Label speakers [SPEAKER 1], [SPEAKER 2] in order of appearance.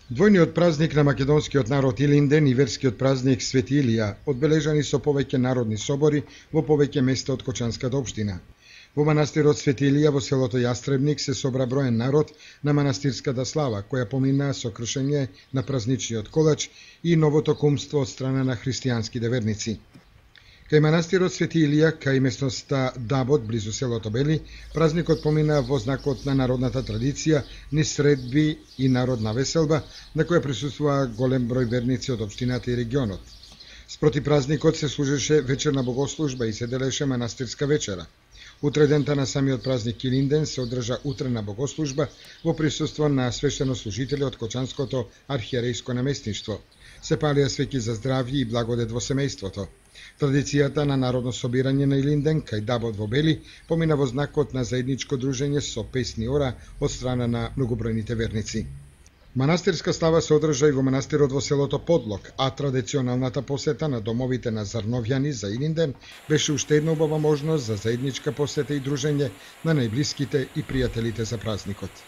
[SPEAKER 1] Двојниот празник на македонскиот народ Илинден и верскиот празник Свети Илија одбележани со повеќе народни собори во повеќе места од Кочанската општина. Во манастирот Свети Илија во селото Јастребник се собра броен народ на манастирската слава, која помина со кршење на празничниот колач и новото кумство од страна на христијанските верници. Кај манастирот Свети Илија, кај местноста Дабот, близу селото Бели, празникот помина во знакот на народната традиција, низ средби и народна веселба, на која присуствува голем број верници од општината и регионот. Спроти празникот се служеше вечерна богослужба и се делеше манастирска вечера. Утре дента на самиот празник Илинден се одржа утрена богослужба во присуство на свештенослужители од Кочанското архиерејско наместништво. Се палија свеќи за здравје и благодет во семејството. Традицијата на народно собирање на Илинден кај Дабот во Бели помина во знакот на заедничко дружење со песни ора од страна на многобројните верници. Манастирска слава се одржа и во манастирот во селото Подлог, а традиционалната посета на домовите на Зарновјани за Илинден беше уште една убава можност за заедничка посета и дружење на најблиските и пријателите за празникот.